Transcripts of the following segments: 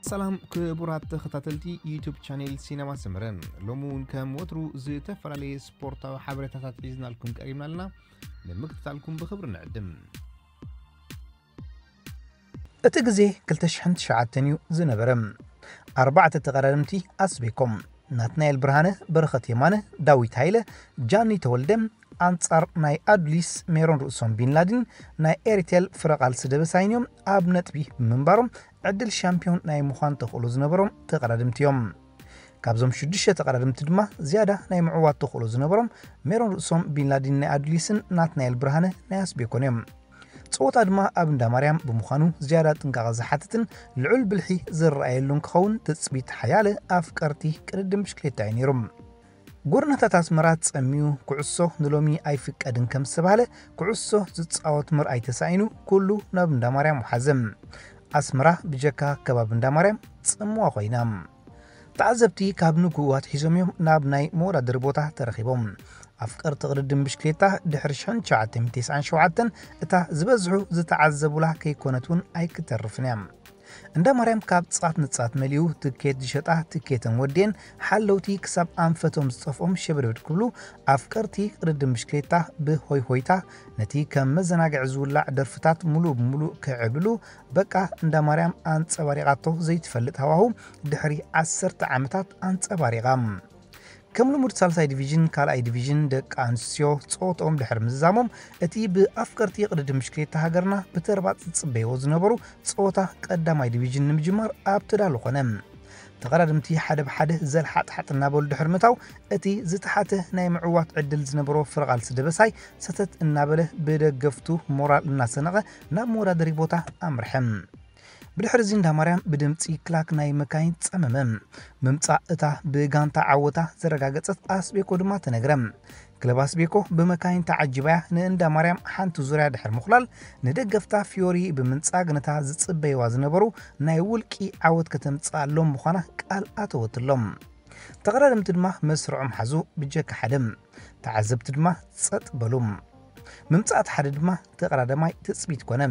ሰላም ክቡራት ተኸታተልቲ ዩቱብ ቻኔል ሲነማ ሰመረ፣ ሎሚ እውን ከም ወትሩ ዝተፈላለየ ስፖርታዊ ሓበሬታታት ሒዝናልኩም ቀሪብና ኣለና። ንምክትታልኩም ብኽብሪ ንዕድም። እቲ ግዜ ክልተ ሽሕን ትሽዓተን እዩ ዝነበረ። ኣርባዕተ ተቐዳደምቲ ኣስቤኮም፣ ናትናኤል ብርሃነ፣ በረኸት የማነ፣ ዳዊት ሃይለ፣ ጃኒ ተወልደ፣ ኣንጻር ናይ ኣዱሊስ ሜሮን ርእሶም ቢንላዲን ናይ ኤሪቴል ፍረቓልሲ ደበሳይን እዮም ኣብ ነጥቢ ብምንባሮም ዕድል ሻምፒዮን ናይ ምዃን ተኽእሎ ዝነበሮም ተቐዳድምቲ እዮም። ካብዞም ሽዱሽተ ተቐዳድምቲ ድማ ዝያዳ ናይ ምዕዋት ተኽእሎ ዝነበሮም ሜሮን ርእሶም ቢንላዲን ናይ ኣዱሊስን ናትናኤል ብርሃነ ናይ ኣስቤኮን እዮም። ጸወታ ድማ ኣብ እንዳ ማርያም ብምዃኑ ዝያዳ ጥንቃቐ ዝሓትትን ልዑል ብልሒ ዝረኣየሉን ክኸውን ትጽቢት ሓያለ ኣፍቀርቲ ቅድድም ብሽክሌታ እዩ ነይሩ። ጎደናታት ኣስመራ ጸሚዩ፣ ኩዕሶ ንሎሚ ኣይፍቀድን ከም ዝተባህለ፣ ኩዕሶ ዝጻወት ምርኣይ ተሳኢኑ፣ ኩሉ ናብ እንዳ ማርያም ወሓዘ። ኣስመራ ብጀካ ከባቢ እንዳ ማርያም ጽምዋ ኮይና። ተዓዘብቲ ካብ ንግሆ ኣትሒዞም እዮም ናብ ናይ መወዳደሪ ቦታ ተረኺቦም። ኣፍቀርቲ ቅድድም ብሽክሌታ ድሕሪ ሽሕን ትሽዓተ ሚእትን ተስዓን ሸውዓተን እታ ዝበዝሑ ዝተዓዘቡላ ከይኮነት እውን ኣይክተርፍን እያ። እንዳ ማርያም ካብ ጻት ንጻት መሊኡ ትኬት ዝሸጣ ትኬተን ወዴን ሓለውቲ ክሳብ ኣንፈቶም ዝጠፍኦም ሸብድብድ ክብሉ ኣፍቀርቲ ቅድድም ብሽክሌታ ብሆይ ሆይታ ነቲ ከም መዘናግዒ ዝውላዕ ደርፍታት ሙሉእ ብሙሉእ ክዕብልሉ በቃ እንዳ ማርያም ኣንጸባሪቓቶ ዘይትፈልጥ ሃዋሁ ድሕሪ ዓሰርተ ዓመታት ኣንጸባሪቓ። ከም ልሙድ ሳልሳይ ዲቪዥን ካልኣይ ዲቪዥን ደቂ ኣንስትዮ ጸወትኦም ድሕሪ ምዝዛሞም እቲ ብኣፍቀርቲ ቅድድም ብሽክሌታ ሃገርና ብተርባጽ ዝጽበይዎ ዝነበሩ ጸወታ ቀዳማይ ዲቪዥን ንምጅማር ኣብ ተዳሎ ኮነ። ተቐዳድምቲ ሓደ ብሓደ ዘልሓጥሓጥ እናበሉ ድሕሪ ምእታው እቲ ዝተሓተ ናይ ምዕዋት ዕድል ዝነበሮ ፍረቓልሲ ደበሳይ ሰተት እናበለ ብደገፍቱ ሞራል እናሰነቐ ናብ መወዳደሪ ቦታ ኣምርሐ። ብድሕሪ እዚ እንዳ ማርያም ብድምጺ ክላክ ናይ መካይን ጸመመ። ምምጻእ እታ ብጋንታ ዓወታ ዘረጋገጸት ኣስቤኮ ድማ ተነግረ። ክለብ ኣስቤኮ ብመካይን ተዓጂባያ ንእንዳ ማርያም ሓንቲ ዙርያ ድሕሪ ምኹላል ንደገፍታ ፊዮሪ ብምንጻግ ነታ ዝጽበይዋ ዝነበሩ ናይ ውልቂ ዓወት ከተምጽኣሎም ምዃና ቃል ኣተወትሎም። ተቐዳደምቲ ድማ መስርዖም ሓዙ ብጀካ ሓደ። ተዓዘብቲ ድማ ጸጥ በሉ። ምምጻእ እቲ ሓደ ድማ ተቐዳዳማይ ትጽቢት ኮነ።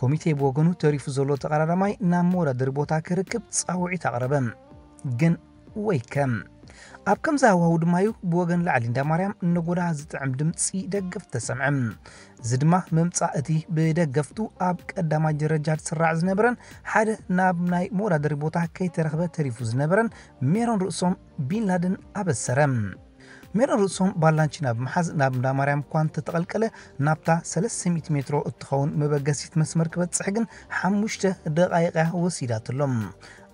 ኮሚቴ ብወገኑ ተሪፉ ዘሎ ተቐዳዳማይ ናብ መወዳደሪ ቦታ ክርክብ ጻውዒት ኣቕረበ። ግን ወይከ። ኣብ ከምዚ ሃዋሁ ድማ እዩ ብወገን ላዕሊ እንዳ ማርያም ነጎዳ ዝጥዕም ድምጺ ደገፍ ተሰምዐ። እዚ ድማ ምምጻእ እቲ ብደገፍቱ ኣብ ቀዳማይ ደረጃ ዝስራዕ ዝነበረን ሓደ ናብ ናይ መወዳደሪ ቦታ ከይተረኽበ ተሪፉ ዝነበረን ሜሮን ርእሶም ቢንላደን ኣበሰረ። ሜሮን ርእሶም ባላንቺና ብምሓዝ ናብ እንዳ ማርያም እኳ እንተተቐልቀለ ናብታ ሰለስተ ሚእቲ ሜትሮ እትኸውን መበገሲት መስመር ክበጽሕ ግን ሓሙሽተ ደቓይቕ እያ ወሲዳትሎም።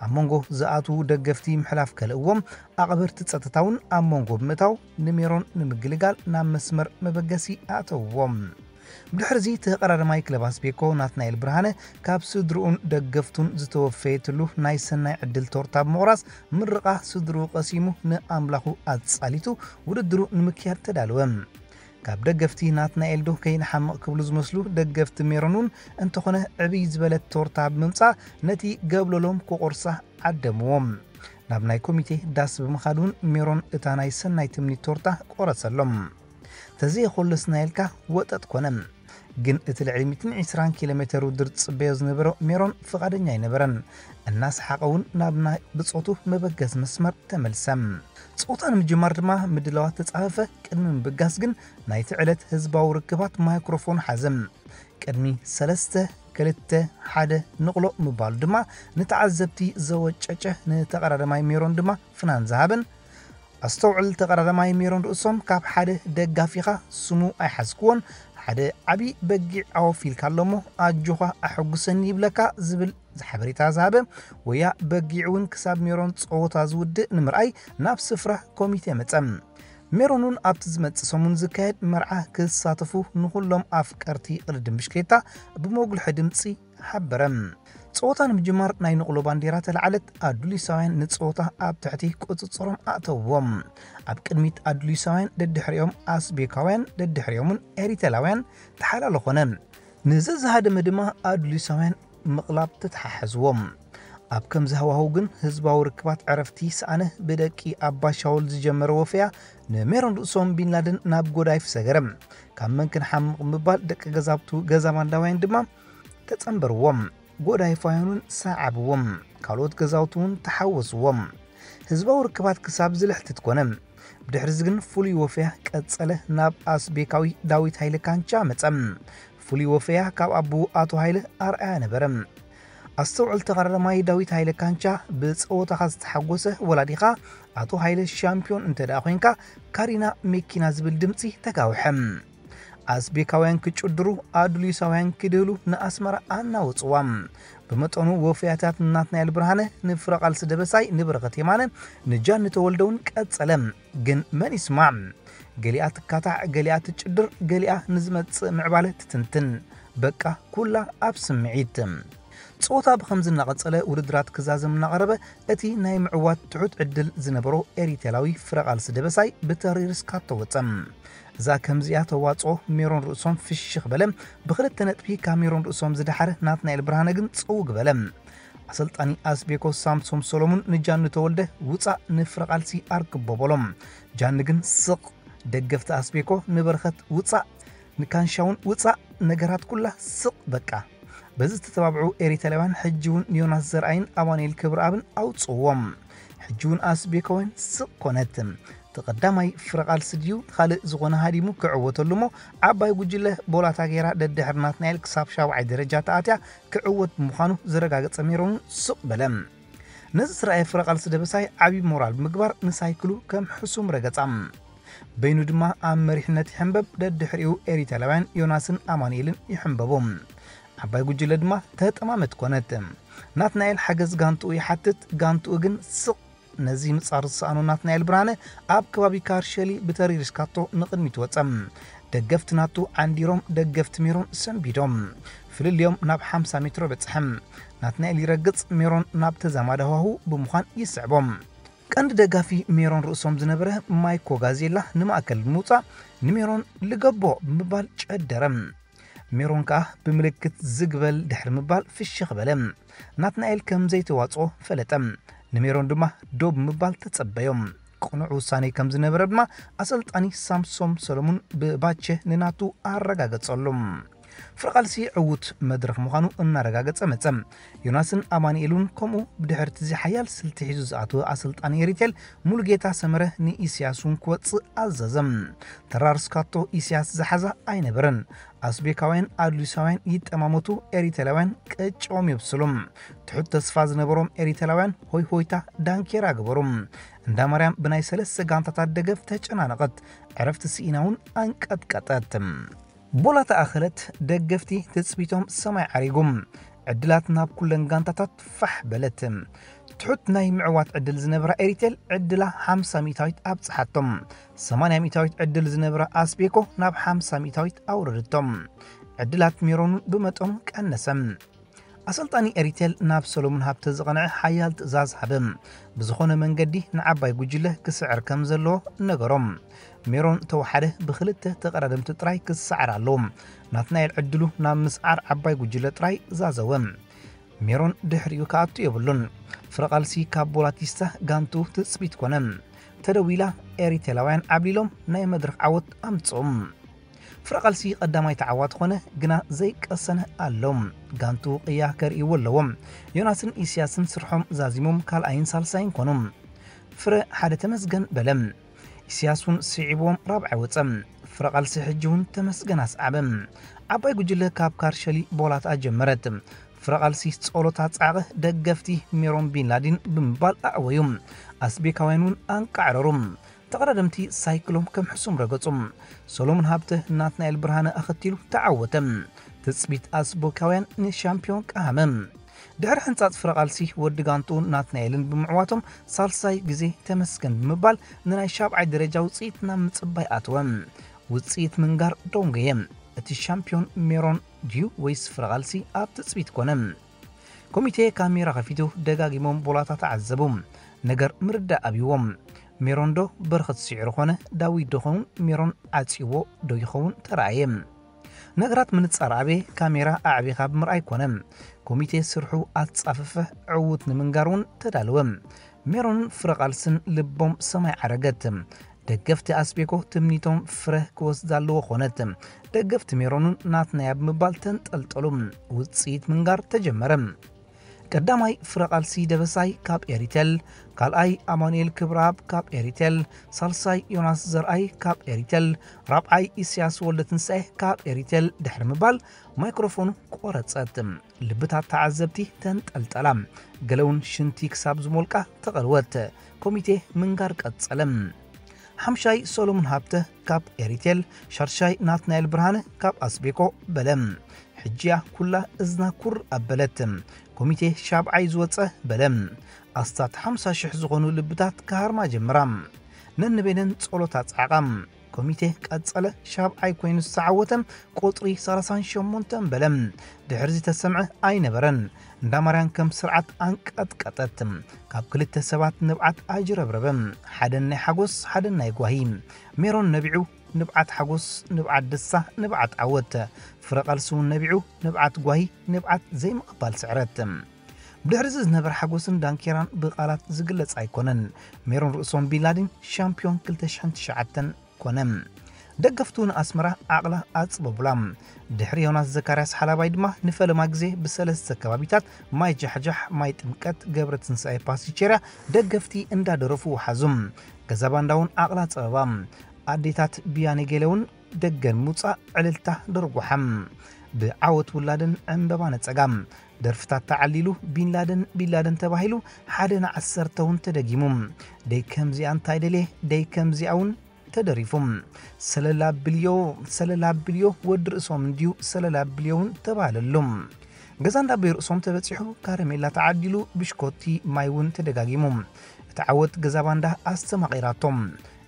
ኣብ መንጎ ዝኣትዉ ደገፍቲ ምሕላፍ ከልእዎም ኣቕበርቲ ጸጥታ እውን ኣብ መንጎ ብምእታው ንሜሮን ንምግልጋል ናብ መስመር መበገሲ ኣእተውዎም። ብድሕሪ እዚ ተቐዳዳማይ ክለብ ኣስቤኮ ናትናኤል ብርሃነ ካብ ስድርኡን ደገፍቱን ዝተወፈየትሉ ናይ ሰናይ ዕድል ቶርታ ብምቑራስ ምርቓ ስድርኡ ቀሲሙ ንኣምላኹ ኣጻሊቱ ውድድሩ ንምክያድ ተዳለወ። ካብ ደገፍቲ ናትናኤል ዶ ከይንሓምቕ ክብሉ ዝመስሉ ደገፍቲ ሜሮን እውን እንተኾነ ዕብይ ዝበለት ቶርታ ብምምጻእ ነቲ ገብለሎም ክቑርሳ ዓደምዎም። ናብ ናይ ኮሚቴ ዳስ ብምኻድ እውን ሜሮን እታ ናይ ሰናይ ትምኒት ቶርታ ቆረሰሎም። ተዘየኾለስና ኢልካ ወጠጥ ኮነ። ግን እቲ ልዕሊ ሚእትን ዕስራን ኪሎ ሜተር ውድድር ዝጽበዮ ዝነበረ ሜሮን ፍቓደኛ ኣይነበረን። እናሰሓቐ እውን ናብ ናይ ብጾቱ መበገሲ መስመር ተመልሰ። ጾታ ንምጅማር ድማ ምድላዋት ተጻፈፈ። ቅድሚ ምብጋስ ግን ናይቲ ዕለት ህዝባዊ ርክባት ማይክሮፎን ሓዘ። ቅድሚ ሰለስተ፣ ክልተ፣ ሓደ ንቕሎ ምባሉ ድማ ንተዓዘብቲ ዘወጨጨ፣ ንተቐዳዳማይ ሜሮን ድማ ፍናን ዝሃበን። ኣስተውዕል፣ ተቐዳዳማይ ሜሮን ርእሶም ካብ ሓደ ደጋፊኻ ስሙ ኣይሓዝክዎን፣ ሓደ ዓቢ በጊዕ ዓወፍ ኢልካ ኣሎ እሞ ኣጆኻ ኣሐጉሰኒ ይብለካ ዝብል ሓበሬታ ዝሃበ ወያ በጊዕ እውን ክሳብ ሜሮን ጸወታ ዝውድእ ንምርኣይ ናብ ስፍራ ኮሚቴ መጸ። ሜሮን እውን ኣብቲ ዝመጽእ ሰሙን ዝካየድ መርዓ ክሳተፉ ንኹሎም ኣፍቀርቲ ቅድድም ብሽክሌታ ብመጉልሒ ድምጺ ሓበረ። ጸወታ ንምጅማር ናይ ንቕሎ ባንዴራ ተለዓለት። ኣዱሊሳውያን ንጸወታ ኣብ ትሕቲ ቁጽጽሮም ኣእተውዎም። ኣብ ቅድሚት ኣዱሊሳውያን፣ ደድሕሪኦም ኣስቤካውያን፣ ደድሕሪኦምን ኤሪተላውያን ተሓላሎ ኮነ። ንዘዝሃደመ ድማ ኣዱሊሳውያን ምቕላብ ተተሓሓዝዎም። ኣብ ከምዚ ሃዋህው ግን ህዝባዊ ርክባት ዕረፍቲ ሰኣነ። ብደቂ ኣባ ሻውል ዝጀመረ ወፈያ ንሜሮን ርእሶም ቢንላደን ናብ ጎዳይፍ ሰገረ። ካብ መን ክንሓምቕ ምባል ደቂ ገዛብቱ ገዛ ባንዳውያን ድማ ተጸንበርዎም። ጎዳይፋውያን እውን ሰዓብዎም፣ ካልኦት ገዛውቲ እውን ተሓወስዎም። ህዝባዊ ርክባት ክሳብ ዝልሕትት ኮነ። ብድሕርዚ ግን ፍሉይ ወፈያ ቀጸለ፣ ናብ ኣስቤካዊ ዳዊት ሃይለ ካንቻ መጸ። ፍሉይ ወፈያ ካብ ኣቦኡ ኣቶ ሃይለ ኣርኣያ ነበረ። ኣስተውዕል ተቐዳዳማይ ዳዊት ሃይለ ካንቻ፣ ብጸወታኻ ዝተሓጎሰ ወላዲኻ ኣቶ ሃይለ ሻምፒዮን እንተ ደኣ ኮይንካ፣ ካሪና መኪና ዝብል ድምጺ ተጋውሐ። ኣስቤካውያን ክጭድሩ፣ ኣዱሊሳውያን ክድህሉ ንኣስመራ ኣናወጽዋ። ብመጠኑ ወፍያታት ናትናኤል ብርሃነ ንፍረ ቃልሲ ደበሳይ ንበረኸት የማነ ንጃኒ ተወልደ እውን ቀጸለ። ግን መን ይስማዕ? ገሊኣ ትካታዕ፣ ገሊኣ ትጭድር፣ ገሊኣ ንዝመጽእ ምዕባለ ትትንትን። በቃ ኩላ ኣብ ስምዒት። ጸወታ ብኸምዚ እናቐጸለ ውድድራት ክዛዘም እናቐረበ እቲ ናይ ምዕዋት ትሑት ዕድል ዝነበሮ ኤሪቴላዊ ፍረ ቃልሲ ደበሳይ ብተሪር ስካቶ ወጸ። እዛ ከምዚኣ ተዋጽኦ ሜሮን ርእሶም ፍሽኽ በለ። ብኽልተ ነጥቢ ካብ ሜሮን ርእሶም ዝደሓረ ናትናኤል ብርሃነ ግን ጸውግ በለ። ኣሰልጣኒ ኣስቤኮ ሳምሶም ሰሎሙን ንጃኒ ተወልደ ውጻእ ንፍረ ቃልሲ ኣርክቦ በሎም። ጃኒ ግን ስቕ። ደገፍቲ ኣስቤኮ ንበረኸት ውጻእ፣ ንካንሻውን ውጻእ፣ ነገራት ኩላ ስቕ በቃ። በዚ ዝተተባብዑ ኤሪተላውያን ሕጂ እውን ዮናስ ዘርኣይን ኣማኑኤል ክብረኣብን ኣውጽእዎም። ሕጂ እውን ኣስቤኮውያን ስቕ ኮነት። ተቐዳማይ ፍረ ቃልሲ ድዩ ካልእ ዝኾነ ሃዲሙ ክዕወተሉ እሞ ዓባይ ጉጅለ ቦላታ ገይራ ደድሕሪ ናትናኤል ክሳብ ሻብዓይ ደረጃ ተኣትያ ክዕወት ብምዃኑ ዘረጋገጸ ሜሮን ስቕ በለ። ነዚ ዝረኣየ ፍረ ቃልሲ ደበሳይ ዓቢ ሞራል ብምግባር ንሳይክሉ ከም ሕሱም ረገጻ። በይኑ ድማ ኣብ መሪሕነት ይሕንበብ፣ ደድሕሪኡ ኤሪተላውያን ዮናስን ኣማኑኤልን ይሕንበቡ። ዓባይ ጉጅለ ድማ ተጠማመት ኮነት። ናትናኤል ሓገዝ ጋንትኡ ይሓትት፣ ጋንትኡ ግን ስቕ። ነዚ ምጻር ዝሰኣኖ ናትናኤል ብርሃነ ኣብ ከባቢ ካርሸሊ ብተሪር ስካቶ ንቕድሚት ወጸ። ደገፍቲ ናቱ ዓንዲሮም፣ ደገፍቲ ሜሮን ሰንቢዶም። ፍልልዮም ናብ ሓምሳ ሜትሮ በጽሐ። ናትናኤል ይረግጽ፣ ሜሮን ናብ ተዛማዲ ሃዋህው ብምዃን ይስዕቦም። ቀንዲ ደጋፊ ሜሮን ርእሶም ዝነበረ ማይኮ ጋዜላ ንማእከል ብምውጻእ ንሜሮን ልገቦ ብምባል ጨደረ። ሜሮን ከኣ ብምልክት ዝግ በል ድሕሪ ምባል ፍሽኽ በለ። ናትናኤል ከም ዘይተዋጽኦ ፈለጠ። ንሜሮን ድማ ዶ ብምባል ተጸበዮ። ቅኑዕ ውሳኔ ከም ዝነበረ ድማ ኣሰልጣኒ ሳምሶም ሰሎሙን ብባቸ ንናቱ ኣረጋገጸሉ። ፍረ ቃልሲ ዕዉት መድረኽ ምዃኑ እናረጋገጸ መጸ። ዮናስን ኣማኑኤልን ከምኡ። ብድሕርቲ እዚ ሓያል ስልቲ ሒዙ ዝኣተወ ኣሰልጣኒ ኤሪቴል ሙሉጌታ ሰመረ ንኢስያስ እውን ክወጽእ ኣዘዘ። ተራር ስካቶ ኢስያስ ዝሓዛ ኣይነበረን። ኣስቤካውያን ኣዱሊሳውያን ይጠማመቱ፣ ኤሪተላውያን ቀጭኦም የብስሉ። ትሑት ተስፋ ዝነበሮም ኤሪተላውያን ሆይ ሆይታ ዳንኬራ ገበሩ። እንዳ ማርያም ብናይ ሰለስተ ጋንታታት ደገፍ ተጨናነቐት። ዕረፍቲ ስኢና እውን ኣንቀጥቀጠት። ቦላ ተኣኸለት፣ ደገፍቲ ትጽቢቶም ሰማይ ዓሪጉ። ዕድላት ናብ ኩለን ጋንታታት ፋሕ በለት። ትሑት ናይ ምዕዋት ዕድል ዝነበራ ኤሪቴል ዕድላ ሓምሳ ሚእታዊት ኣብጽሓቶም። ሰማንያ ሚእታዊት ዕድል ዝነበራ ኣስቤኮ ናብ ሓምሳ ሚእታዊት ኣውረደቶም። ዕድላት ሜሮን ብመጠኑ ቀነሰ። ኣሰልጣኒ ኤሪቴል ናብ ሰሎሙን ሃብተ ዝቐንዐ ሓያል ትእዛዝ ሃበ። ብዝኾነ መንገዲ ንዓባይ ጉጅለ ክስዕር ከም ዘለዎ ነገሮም። ሜሮን ተወሓደ ብኽልተ ተቐዳደምቲ ጥራይ ክሰዓር ኣለዎ። ናትናኤል ዕድሉ ናብ ምስዓር ዓባይ ጉጅለ ጥራይ ዛዘወ። ሜሮን ድሕሪኡ ክኣቱ የብሉን። ፍረ ቃልሲ ካብ ቦላቲስታ ጋንቱ ትጽቢት ኮነ። ተደዊላ ኤሪቴላውያን ዓብሊሎም ናይ መድረኽ ዓወት ኣምጽኦም። ፍረ ቃልሲ ቀዳማይ ተዓዋቲ ኮነ፣ ግና ዘይቀሰነ ኣሎ። ጋንቱ ቅያ ከርእይዎ ኣለዎም። ዮናስን ኢስያስን ስርሖም ዛዚሞም ካልኣይን ሳልሳይን ኮኑ። ፍረ ሓደ ተመስገን በለ። ኢስያስ እውን ስዒብዎም ራብዓይ ወጸ። ፍረ ቃልሲ ሕጂ እውን ተመስገን ኣስዓበ። ዓባይ ጉጅለ ካብ ካርሸሊ ቦላታ ጀመረት። ፍረ ቃልሲ ጸሎታ ጻዕቐ ደገፍቲ ሜሮን ቢንላዲን ብምባል ኣዕወዩ። ኣስቤካውያን እውን ኣንቃዕረሩ። ተቐዳደምቲ ሳይክሎም ከም ሕሱም ረገጹ። ሰሎሞን ሃብተ ናትናኤል ብርሃነ ኣኸቲሉ ተዓወተ። ትጽቢት ኣስቦካውያን ንሻምፒዮን ቀሃመ። ድሕሪ ሕንጻጽ ፍረ ቃልሲ ወዲ ጋንትኡን ናትናኤልን ብምዕዋቶም ሳልሳይ ግዜ ተመስገን ብምባል ንናይ ሻብዓይ ደረጃ ውጽኢት ናብ ምጽባይ ኣተወ። ውጽኢት ምንጋር ደንጎየ። እቲ ሻምፒዮን ሜሮን ድዩ ወይስ ፍረ ቃልሲ ኣብ ትጽቢት ኮነ። ኮሚቴ ካሜራ ከፊቱ ደጋጊሞም ቦላታ ተዓዘቡ። ነገር ምርዳእ ኣብይዎም። ሜሮን ዶ በረኸት ስዒሩ ኾነ ዳዊት ዶ ኸውን ሜሮን ዓጽይዎ ዶ ይኸውን ተራእየ። ነገራት ምንጻር ኣበየ ካሜራ ኣዕቢኻ ብምርኣይ ኮነ። ኮሚቴ ስርሑ ኣጻፈፈ። ዕዉት ንምንጋር እውን ተዳለወ። ሜሮንን ፍረ ቃልስን ልቦም ሰማይ ዓረገት። ደገፍቲ ኣስቤኮ ትምኒቶም ፍረ ክወስድ ኣለዎ ኾነት። ደገፍቲ ሜሮንን ናትናያ ብምባል ተንጠልጠሉ። ውፅኢት ምንጋር ተጀመረ። ቀዳማይ ፍረቓልሲ ደበሳይ ካብ ኤሪቴል፣ ካልኣይ ኣማኑኤል ክብረኣብ ካብ ኤሪቴል፣ ሳልሳይ ዮናስ ዘርኣይ ካብ ኤሪቴል፣ ራብዓይ ኢሳያስ ወልደትንሳኤ ካብ ኤሪቴል ድሕሪ ምባል ማይክሮፎኑ ቆረጸት። ልብታት ተዓዘብቲ ተንጠልጠላ። ገለውን ሽንቲ ክሳብ ዝሞልቃ ተቐልወት። ኮሚቴ ምንጋር ቀጸለ። ሓምሻይ ሰሎሞን ሃብተ ካብ ኤሪቴል፣ ሻድሻይ ናትናኤል ብርሃነ ካብ ኣስቤኮ በለ። ሕጂያ ኩላ እዝና ኩር ኣበለት። ኮሚቴ ሻብዓይ ዝወጸ በለ። ኣስታት ሓምሳ ሽሕ ዝኾኑ ልብታት ክሃርማ ጀምራ። ነንበይነን ጸሎት ኣጽዓቓ። ኮሚቴ ቀጸለ። ሻብዓይ ኮይኑ ዝተዓወተ ቁጽሪ ሰላሳን ሸሞንተን በለ። ድሕሪ ዝተሰምዐ ኣይነበረን። እንዳ ማርያን ከም ስርዓት ኣንቀጥቀጠት። ካብ ክልተ ሰባት ንብዓት ኣጅረብረበ። ሓደን ናይ ሓጎስ፣ ሓደን ናይ ጓሂ። ሜሮን ነቢዑ፣ ንብዓት ሓጎስ፣ ንብዓት ደስታ፣ ንብዓት ዓወት። ፍረ ቃልሲ እውን ነቢዑ፣ ንብዓት ጓሂ፣ ንብዓት ዘይምቕባል ስዕረት። ብድሕሪ እዚ ዝነበረ ሓጎስን ዳንኬራን ብቓላት ዝግለጽ ኣይኮነን። ሜሮን ርእሶም ቢንላዲን ሻምፒዮን ክልተ ሽሕን ትሽዓተን ኮነ። ደገፍቱ ንኣስመራ ዓቕላ ኣጽበቡላ። ድሕሪ ዮናስ ዘካርያስ ሓላባይ ድማ ንፈለማ ግዜ ብሰለስተ ከባቢታት ማይ ጃሕጃሕ፣ ማይ ጥምቀት፣ ገብረ ትንሳኤ፣ ፓሲቼርያ ደገፍቲ እንዳደረፉ ወሓዙ። ገዛ ባንዳ እውን ዓቕላ ጸበባ። ኣዴታት ብያኔ ገለ እውን ደገን ሙጻ ዕልልታ ደርጉሓም። ብዓወት ውላደን ዕምበባ ነጸጋ። ደርፍታት ተዓሊሉ ቢንላደን ቢንላደን ተባሂሉ ሓደ ንዓሰርተ እውን ተደጊሙ። ደይ ከምዚኣ እንታይ ደልየ ደይ ከምዚኣ እውን ተደሪፉ። ሰለላ ብልዮ ሰለላ ብልዮ ወዲ ርእሶም እንድዩ ሰለላ ብልዮ እውን ተባህለሉ። ገዛ እንዳቦይ ርእሶም ተበጺሑ ካረሜላ ተዓዲሉ ብሽኮቲ ማይ እውን ተደጋጊሙ። እቲ ዓወት ገዛ ባንዳ ኣስተማቒራቶም።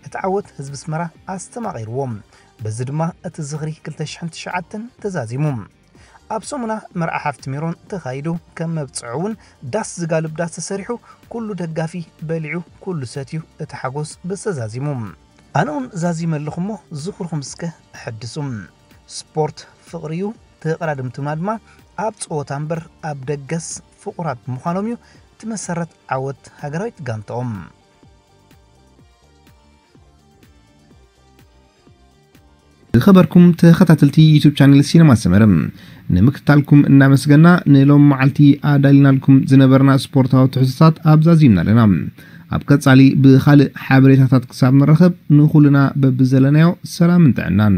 እቲ ዓወት ህዝቢ ኣስመራ ኣስተማቒርዎም። በዚ ድማ እቲ ዝኽሪ ክልተ ሽሕን ትሽዓተን ተዛዚሙ። ኣብ ሰሙና መርዓ ሓፍቲ ሜሮን ተኻይዱ ከም መብጽዑ እውን ዳስ ዝጋልብ ዳስ ተሰሪሑ ኩሉ ደጋፊ በሊዑ ኩሉ ሰትዩ እቲ ሓጎስ ብዝተዛዚሙ። ኣነ እውን ዛዚመ ኣለኹ እሞ ዝኽርኹም እስከ ሕድሱ። ስፖርት ፍቕሪ እዩ። ተቐዳድምትና ድማ ኣብ ጸወታ እምበር ኣብ ደገስ ፍቑራት ብምዃኖም እዩ እቲ መሰረት ዓወት ሃገራዊት ጋንታኦም። ዝኸበርኩም ተኸታተልቲ ዩቱብ ቻነል ሲነማ ሰመረ ንምክትታልኩም እናመስገና ንሎም መዓልቲ ኣዳሊናልኩም ዝነበርና ስፖርታዊ ትሕዝቶታት ኣብዛዚምና ኣለና። ኣብ ቀጻሊ ብኻልእ ሓበሬታታት ክሳብ ንረኸብ ንኹልና በብዘለናዮ ሰላምን ጥዕናን።